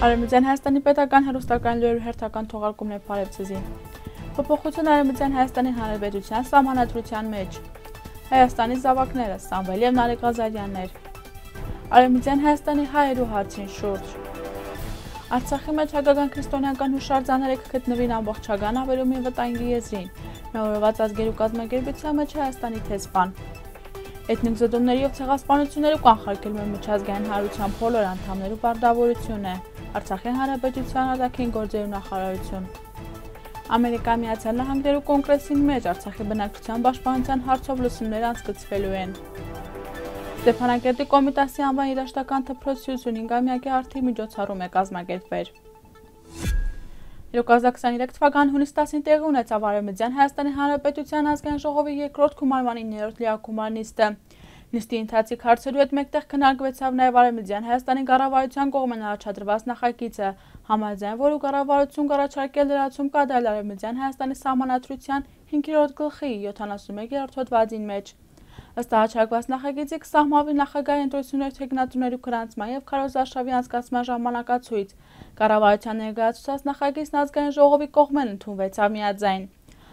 Արևմտյան Հայաստանի պետական հեռուստակայանի լուրերի հերթական թողարկումն է Փարեվցիզին։ Փոփոխություն Արևմտյան Հայաստանի Հանրապետության սահմանադրության մեջ։ Հայաստանի զավակները, Սամվել և Նարեկ Ղազարյաններ։ Արևմտյան Հայաստանի հայերու հարցին շուրջ։ Արցախի մեջ հայկական քրիստոնեական հուշարձանները կգտնվին ամբողջական ավերումի վտանգի եզրին։ Միավորված ազգերու կազմակերպության մեջ Հայաստանի տեսփան։ Էթնիկ զոդումների և ցեղասպանությունների կանխարգելում է միջազգային հանրության բոլոր անդամներու պարտավորություն է։ Արցախի հանրապետության արտաքին գործերու նախարարություն։ Ամերիկայի Միացյալ Նահանգներու կոնգրեսին մեջ Արցախի բնակչության պաշտպանության հարցով լսումներ անցկացվելու են։ Ստեփանակերտի Կոմիտասի անվան երաժշտական դպրոցի 55-ամյակի արդի միջոցառում է կազմակերպվել։ 2023 թվականի հունիս 10-ին տեղի ունեցավ Արևմտյան Հայաստանի Հանրապետության ազգային ժողովի երկրորդ գումարման 9-րդ լիակումար նիստը։ Նիստի ընթացիկ հարցերու հետ մեկտեղ քննարկվեցավ նաև Արևմտյան Հայաստանի կառավարության կողմէն առաջադրված նախագիծը, համաձայն որու կառավարություն կառաջարկել լրացում կատարել Արևմտյան Հայաստանի սահմանադրության 5-րդ գլխի 71-րդ հոդվածին մեջ։ Ըստ առաջարկված նախագծի կսահմանվի նախագահի ընտրությունների թեկնածուներու գրանցման և քարոզարշավի անցկացման ժամանակացույց։ Կառավարության ներկայացուցած նախագիծն ազգային ժողովի կողմէն ընդունվեցավ միաձայն։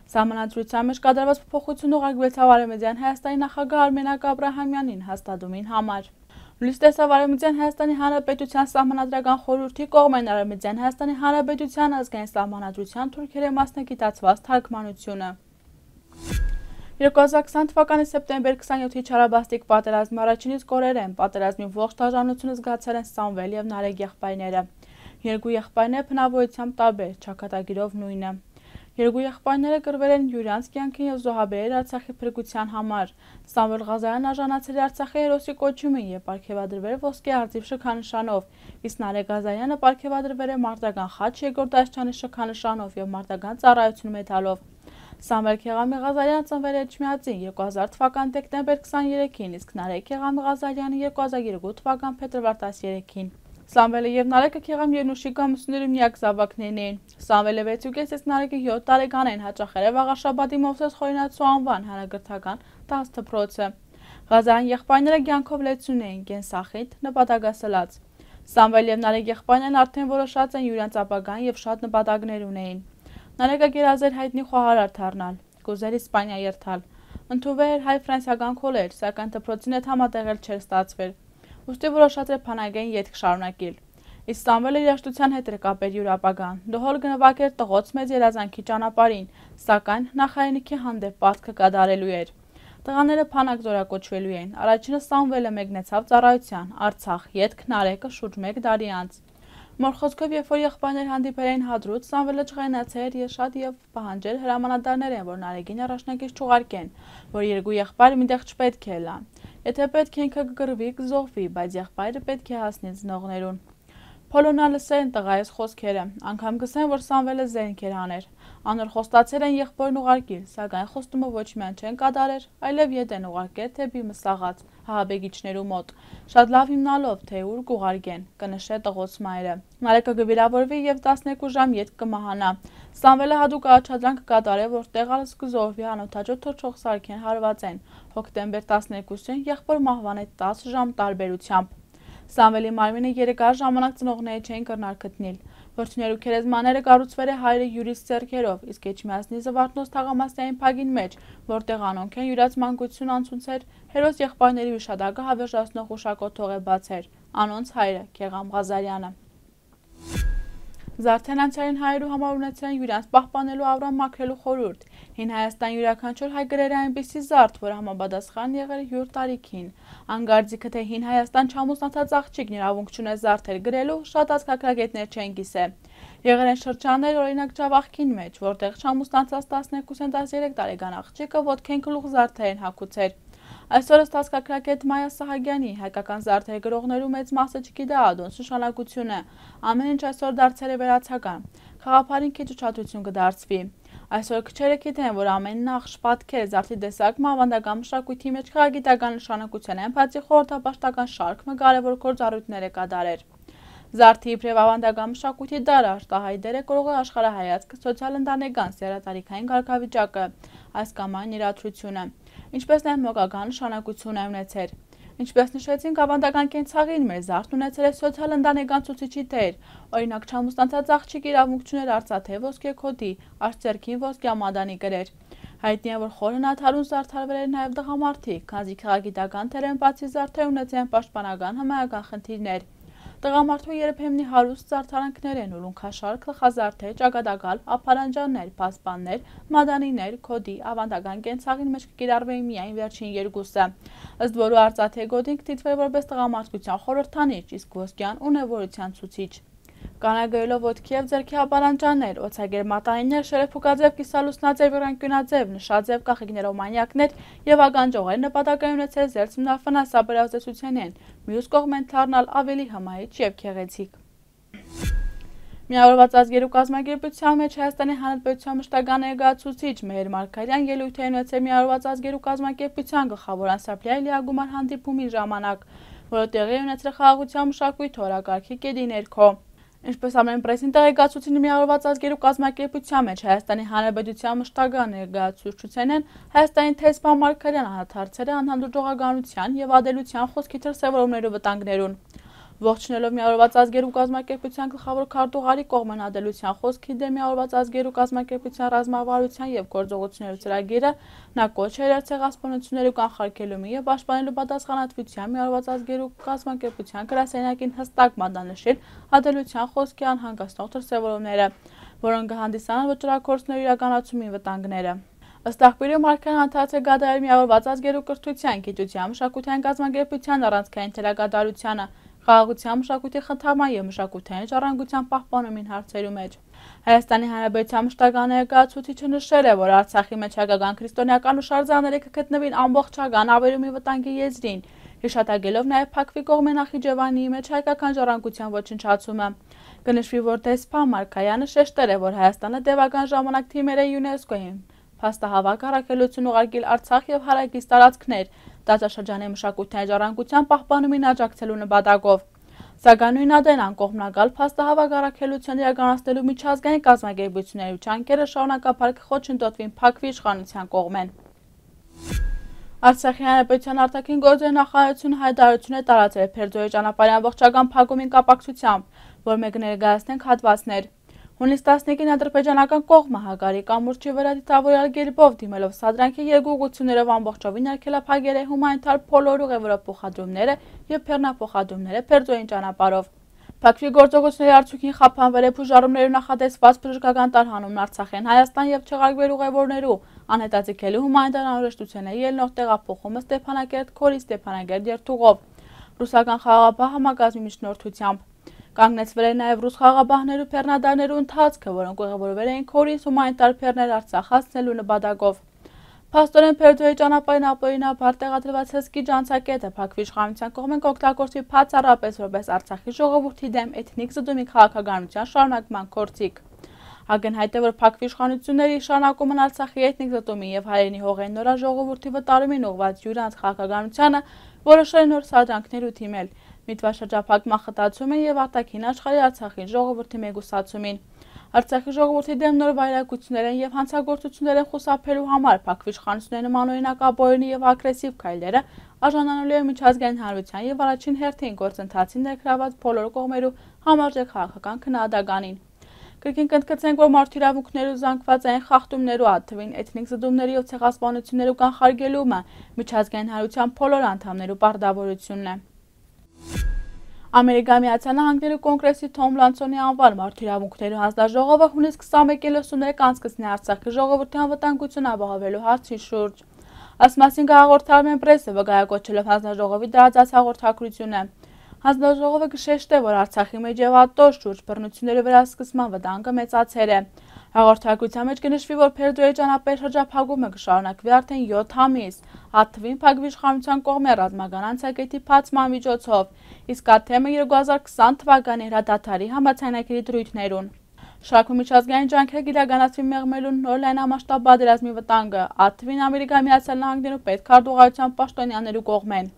Սահմանադրության մեջ կատարված փոփոխություն ուղարկվեցավ Արևմտյան Հայաստանի նախագահ Արմենակ Աբրահամյանին հաստատումին համար։ Լույս տեսավ Արևմտյան Հայաստանի Հանրապետության սահմանադրական խորհրդի կողմէն Արևմտյան Հայաստանի Հանրապետության ազգային սահմանադրության թուրքերեն մասնագիտացված թարգմանությունը։ 2020 թվականի սեպտեմբեր 27-ի չարաբաստիկ պատերազմի առաջին իսկ օրերեն պատերազմի ողջ դաժանությունը զգացել են Սամվել և Նարեկ եղբայրները։ Երկու եղբայրները բնավորությամբ տարբեր, ճակատագիրով նույնը։ Երկու եղբայրները կռվել են յուրանց կյանքին և զոհաբերել Արցախի փրկության համար։ Սամվել Ղազարյանն արժանացել է Արցախի հերոսի կոչումին և պարգևադրվել ոսկե արծիվ շքանշանով, իսկ Նարեկ Ղազարյանը պարգևադրվել է մարտական խաչ երկրորդ դաշնյանի շքանշանով և մարտական ծառայություն մեդալով։ Սամվել Քեղամի Ղազարյանը ծնվել է Էջմիածին 2000 թվականի դեկտեմբեր 23-ին, իսկ Նարեկ Քեղամի Ղազարյանը 2002 թվականի փետրվար 13-ին։ Սամվելը և Նարեկը Քեղամ Երնուշի գամուսների միակ զավակներն էին։ Սամվելը 6.5, իսկ Նարեկը 7 տարեկան էին, հաճախել է Վաղարշաբադի Մովսես Խորինացու անվան հանրագրթական դասդպրոցը։ Ղազարյան եղբայրները կյանքով լեցուն էին, կենսախիտ, նպատակասլաց։ Սամվել և Նարեկ եղբայրներն արդեն որոշած են յուրենց ապագան և շատ նպատակներ ունեին։ Նարեկը գերազեր հայտնի խոհարար դառնալ, կուզեր Իսպանիա երթալ։ Ընդունվել էր հայ-ֆրանսիական քոլեջ, սակայն դպրոցին հետ համատեղել չէր ստացվել։ Ուստի որոշած էր բանակային ետք շարունակել։ Իսկ Սամվելը երաժշտության հետ էր կապել յուր ապագան։ Դհոլ գնվագ էր տղոց մեծ երազանքի ճանապարհին, սակայն նախայինքի հանդեպ պարտքը կատարելու էր։ Տղաները բանակ զորակոչվելու էին։ Առաջինը Սամվելը մեկնեցավ ծառայության, Արցախ, ետք Նարեկը շուրջ 1 տարի անց։ Մոր խոսքով, երբ որ եղբայրներ հանդիպել էին Հադրութ, Սամվելը ջղայնացել էր շատ և պահանջել հրամանատարներ են, որ Նարեկին առաջնակից չուղարկեն, որ երկու եղբայրը միտեղ չպետք է լան։ Եթե պետք է ինքը կգրվի, կզոհվի, բայց եղբայրը պետք է հասնի ծնողներուն։ Փոլոնա լսել են տղայիս խոսքերը, անգամ գսեն, որ Սամվելը զենք էր աներ։ Անոր խոստացել են եղբորն ուղարկել, սակայն խոստումը ոչ միայն չեն կատարեր, այլև ետ են ուղարկել թեպի Մսաղաց, հահաբեկիչներու մոտ, շատ լավ հիմնալով, թե ուր կուղարկեն, կնշե տղոց մայրը։ Նարեկը կվիրավորվի և 12 ժամ ետք կմահանա։ Սամվելը հատուկ առաջադրանք կկատարե, որ տեղալս կզոհվի անօթաչու թռչող սարքեն հարվածեն։ Հոկտեմբեր 12-ին եղբոր մահվան է 10 ժամ տարբերությամբ։ Սամվելի մարմինը 3 ժամանակ ծնողները չէին կրնար գտնել։ Որդիներու քերեզմաները կառուցվել է հայրը յուրից ձեռքերով, իսկ Էջմիածնի Զվարթնոց թաղամասային փագին մեջ, որտեղ անոնք են յուրած մանկություն անցուցեր, հերոս եղբայրների հիշատակը հավերժացնող հուշակոթող է բացեր, անոնց հայրը Քեղամ Ղազարյանը։ Զարդեն անցյալին հայերու համար ունեցել են յուրանց պահպանելու Ավրամ մաքրելու խորհուրդ։ Հին Հայաստան յուրաքանչյուր հայ գրել է այնպիսի զարդ, որ համապատասխան եղել յուր տարիքին։ Անգարձիքը թե Հին Հայաստան չամուսնացած աղջիկն իրավունք չունե զարդեր գրելու, շատ ազգագրագետներ չեն կիսել։ Եղել են շրջաններ, օրինակ Ջավախքին մեջ, որտեղ չամուսնացած 12-13 տարեկան աղջիկը ոտքեն գլուխ զարդեր են հագուցել։ Այսօր ըստ ազգագրագետ Մայա Սահակյանի հայկական զարդեր գրողներու մեծ մասը չգիտե ադոնց նշանակությունը։ Ամեն ինչ այսօր դարձել է վերացական։ Խաղափարին քիչ ուշադրություն կդարձվի։ Այսօր քչերը գիտեն, որ ամեն նախշ, պատկեր, զարդի տեսակը ավանդական մշակույթի մեջ քաղաքագիտական նշանակություն են, բացի խորհրդապաշտական շարքը կարևոր գործառույթներ է կատարել։ Զարդի իբրև ավանդական մշակույթի դարը արտահայ դեր է կրող աշխարհայացքը, սոցիալ-ընտանեկան, սեռատարիքային կարգավիճակը, այս կամ այն իրադրությունը, ինչպես նաև մոգական նշանակություն է ունեցել։ Ինչպես նշեցինք, ավանդական կենցաղին մեր զարդն ունեցել է սոցիալ-ընտանեկան ցուցիչի դեր, օրինակ չամուսնացած աղջիկ իրավունք չուներ արծաթե ոսկե քոդի, արծերքին ոսկյա մադանի գրեր։ Հայտնի է, որ խորը նաթարուն զարդարվել էր նաև տղամարդիկ, քանզի քաղաքագիտական թերեն բացի զարդեր ունեցել են պաշտպանական հմայական խնդիրներ։ Տղամարդու երբեմնի հարուստ զարդարանքներ են, ուլունքաշարք, գլխազարդեր, ճակատագալ, ափարանջաններ, պասպաններ, մադանիներ, քոդի, ավանդական կենցաղին մեջ կկիրառվեին միայն վերջին երկուսը, ըստ որու արծաթե գոտին կդիտվեր որպես տղամարդկության խորհրդանիշ, իսկ ոսկյան ունևորության ցուցիչ։ Կանագայելով ոտքի և ձեռքի ափարանջաններ, օձագեր մատանիներ, շերեփուկաձև, կիսալուսնաձև, եռանկյունաձև, նշաձև կախիկներով մանյակներ և ագանջողեր նպատակային ունեցել զերծումն ֆինանսաբար ազդեցությունեն, մյուս կողմեն դառնալ ավելի հմայիչ և գեղեցիկ։ Միավորված ազգերու կազմակերպության մեջ Հայաստանի Հանրապետության մշտական ներկայացուցիչ Մեհեր Մարգարյան ելույթ է ունեցել Միավորված ազգերու կազմակերպության գլխավոր անսապլիայի լիագումար հանդիպումի ժամանակ, որը տեղի ունեցել խաղաղության մշակույթի օրակարգի կետի ներքո։ Ինչպես ամենպրեսին տեղեկացուցին Միավորված ազգերու կազմակերպության մեջ Հայաստանի Հանրապետության մշտական ներկայացուցչությունն Հայաստանի տեսփան Մարգարյան անդրադարձել է անհանդուրժողականության և ադելության խոսքի դրսևորումների վտանգներուն։ Ողջունելով Միավորված ազգերու կազմակերպության գլխավոր քարտուղարի կողմեն ադելության խոսքի դեմ Միավորված ազգերու կազմակերպության ռազմավարության և գործողությունների ծրագիրը, նա կոչ է արել ցեղասպանությունների կանխարգելումի և պաշտպանելու պատասխանատվության Միավորված ազգերու կազմակերպության գրասենյակին հստակ մատնանշել ադելության խոսքի անհանգստող դրսևորումները, որոնք կհանդիսանան վճռագործությունների իրականացումի վտանգները։ Ըստ աղբյուրի Մարգարյանն անդրադարձել է կատարել Միավորված ազգերու կրթության, գիտության, մշակութային կազմակերպության առանցքային թելակատարությանը, խաղաղության մշակույթի խթանման և մշակութային ժառանգության պահպանումին հարցերու մեջ։ Հայաստանի Հանրապետության մշտական ներկայացուցիչը նշել է, որ Արցախի մեջ հայկական քրիստոնեական հուշարձանները կգտնվին ամբողջական ավերումի վտանգի եզրին, հիշատակելով նաև Փակվի կողմի Նախիջևանի մեջ հայկական ժառանգության ոչնչացումը։ Կնշվի, որ տեսփան Մարգարյանը շեշտել է, որ Հայաստանը տևական ժամանակ թիմեր է ՅՈՒՆԵՍԿՕ-ին փաստահավաք առաքելություն ուղարկել Արցախ և հարակից տարածքներ, տարածաշրջանի մշակութային ժառանգության պահպանումին աջակցելու նպատակով։ Սակայն նույն ադենան կողմնակալ փաստահավաք առաքելության իրականացնելու միջազգային կազմակերպությունների ջանքերը շարունակաբար կխոչընդոտվին Փակվի իշխանության կողմեն։ Արցախի Հանրապետության արտաքին գործերի նախարարությունը հայտարարություն է տարածել Փերձորի ճանապարհի ամբողջական փակումին կապակցությամբ, որը կներկայացնենք հատվածներ։ Հունիս 15-ին ադրբեջանական կողմը հակարի կամուրջի վրա դիտավորյալ կերպով դիմելով սադրանքի երկու ուղղություններով ամբողջովին արգելափակել է հումանիտար բոլոր ուղևորափոխադրումները և բեռնափոխադրումները Փերձորի ճանապարհով։ Փակվի գործողությունների արդյունքին խափանվել է բուժարումներով նախատեսված բժշկական տարհանումն Արցախեն Հայաստան և չեղարկվել ուղևորներու անհետաձգելի հումանիտար անհրաժեշտությունների ելնող տեղափոխումը Ստեփանակերտ Քորի Ստեփանագերտ երթուղով ռուսական խաղաղապահ համակազմի միջնորդությամբ։ Կանգնեցվել է նաև ռուս խաղաղապահներու բեռնադարներու ընթացքը, որոնք ուղևորվել էին Քորից հումանիտար բեռներ Արցախ հասցնելու նպատակով։ Փաստորեն Փերձորի ճանապարհին ապօրինաբար տեղադրված հսկի ջանցակետը Փակվի իշխանության կողմեն կօգտագործվի բացառապես որպես Արցախի ժողովրդի դեմ էթնիկ զդումի քաղաքականության շարունակման գործիք։ Ակնհայտ է, որ Փակվի իշխանությունների շարունակումն Արցախի էթնիկ զտումի և հայերենի հողային նորա ժողովրդի վտարումին ուղղված յուրանց քաղաքականությանը որոշել է նոր սադրանքներ ու թիմել, միտված շրջափակման խտացումին և արտաքին աշխարհի Արցախի ժողովրդի մեկուսացումին։ Արցախի ժողովրդի դեմ նոր վայրագություններ են և հանցագործություններ են խուսափելու համար Փակվի իշխանությունների նմանօրինակ ապօրինի և ագրեսիվ քայլերը արժանանալու են միջազգային հանրության և առաջին հերթին գործընթացին ներգրավված բոլոր կողմերու համարժեք քաղաքական քննադատականին։ Կրկին կընդգծենք, որ մարդու իրավունքներու զանգվածային խախտումներու, այդ թվին էթնիկ զդումների և ցեղասպանություններու կանխարգելումը միջազգային հանրության բոլոր անդամներու պարտավորությունն է։ Ամերիկայի Միացյալ Նահանգներու Կոնգրեսի Թոմ Լանսոնի անվան մարդու իրավունքներու հանձնաժողովը հունիս 21-33 կանցկացնի Արցախի ժողովրդի անվտանգությունը ապահովելու հարցի շուրջ։ Այս մասին կհաղորդարում են պրեսը, վկայակոչելով հանձնաժողովի տարածած հաղորդագրությունը։ Հանձնաժողովը կշեշտե, որ Արցախի մեջ և ԱՏՕ շուրջ բռնությունների վերահսկման վտանգը մեծացել է։ Հաղորդագրության մեջ կնշվի, որ Փերձորի ճանապարհի շրջափակումը կշարունակվի արդեն 7 ամիս, այդ թվին Փակվի իշխանության կողմեն ռազմական անցակետի բացման միջոցով, իսկ այդ թեմը 2020 թվականի հրադադարի համաձայնագրի դրույթներուն։ Շարքում միջազգային ջանքեր կիրականացվի մեղմելու նոր լայնամասշտաբ պատերազմի վտանգը, այդ թվին Ամերիկայի Միացյալ Նահանգներու պետքարտուղարության պաշտոնյաներու կողմեն։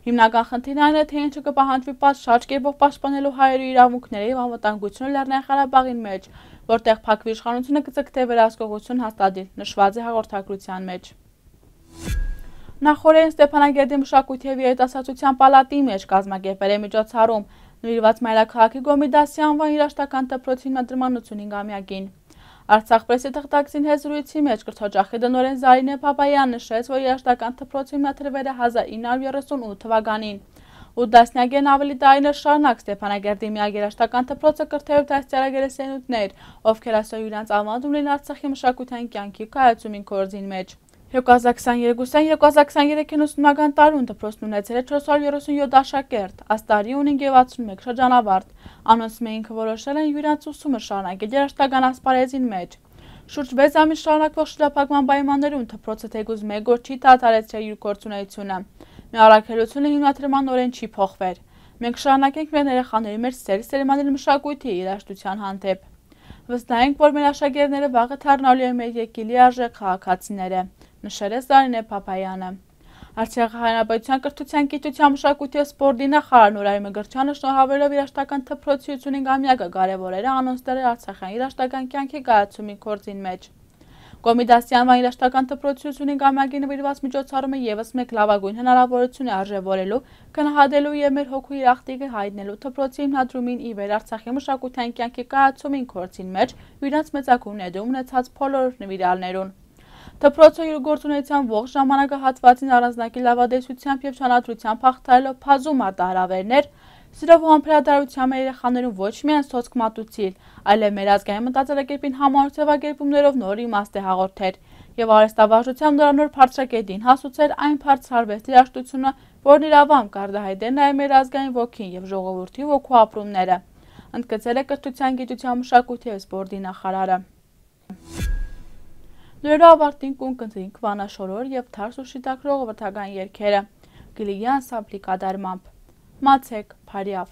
Հիմնական խնդիրն այն է, թե ինչը կպահանջվի պատշաճ կերպով պաշտպանելու հայերու իրավունքները և անվտանգությունը Լեռնային Ղարաբաղի մեջ, որտեղ Փակվի իշխանությունը կձգտե վերահսկողություն հաստատել, նշված է հաղորդագրության մեջ։ Նախորդին Ստեփանագերդի մշակույթի և երիտասարդության պալատի մեջ կազմակերպվել է միջոցառում նվիրված մայրաքաղաքի Գոմիդասի անվան երաժշտական դպրոցի հիմնադրման 85-ամյակին։ Արցախ պրեսի թղթակցին հեզրույցի մեջ կրթօջախի տնօրեն Զարինե Փափայանը նշեց, որ երաժշտական դպրոցը հիմնադրվել է 1938 թվականին։ 8 դասնյակեն ավելի տարիներ շարունակ Ստեփանագերդի միակ երաժշտական դպրոցը կրթել դաստիարակել է սերունդներ, ովքեր այսօր իրենց ավանդում ունեն Արցախի մշակութային կյանքի կայացումին գործին մեջ։ 2022-2023 ուսումնական տարում դպրոցն ունեցել է 437 աշակերտ, այս տարի ունեն 61 շրջանավարտ։ Անոնց ինքը որոշել են յուրաքանչյուր ուսումը շարունակել երաժշտական ասպարեզին մեջ։ Շուրջ 6 ամիս շարունակվող շրջափակման պայմաններում դպրոցը թեկուզ մեկ օր չի դադարեցրել իր գործունեությունը։ Մեր առաքելությունը հիմնադրման օրեն չի փոխվել։ Մենք շարունակենք մեր երեխաների մեջ սերմանել մշակույթի երաժշտության հանդեպ։ Վստահ ենք, որ մեր աշակերտները վաղը դառնալու են մեր երկրի արժեք քաղաքացիները, նշել է Զարինե Փափայանը։ Արցախի հանրապետության կրթության, գիտության, մշակույթի և սպորտի նախարար Նուրայր Մգրչյանը շնորհավորելով երաժշտական դպրոցի 55-ամյակը կարևորել է անոնց դերը արցախյան երաժշտական կյանքի կայացումի գործին մեջ։ Գոմիդասի անվան երաժշտական դպրոցի 55-ամյակի նվիրված միջոցառումը ևս մեկ լավագույն հնարավորություն է արժևորելու, գնահատելու և մեր հոգու իրախտիկը հայտնելու դպրոցի հիմնադրումին ի վեր Արցախի մշակութային կյանքի կայացումին գործին մեջ իրենց մեծագույն ներդրում ունեցած բոլոր նվիրյալներուն։ Դպրոցը իր գործունեության ողջ ժամանակահատվածին առանձնակի լավադեսությամբ և շանադրությամբ հաղթահարելով բազում մարտահրավերներ, սիրով ու համբերատարությամբ մեր երեխաներուն ոչ միայն սոցկ մատուցիլ, այլև մեր ազգային մտածելակերպին համառ ձևակերպումներով նոր իմաստ է հաղորդել և արհեստավարժությամբ նորանոր բարձրակետին հասուցել այն բարձր արվեստի երաժշտությունը, որն իր ավամբ կարտահայտել նաև մեր ազգային ոգին և ժողովրդի ոգու ապրումները, ընդգծել է կրթության, գիտության, մշակույթի և սպորտի նախարարը։ Լուրերով ավարտին կընտրենք Վանա Շորոր և Թարս ու Շիտակ ժողովրդական երգերը Գլիգի անսամբլի կատարմամբ։ Մացեք, Փարիավ։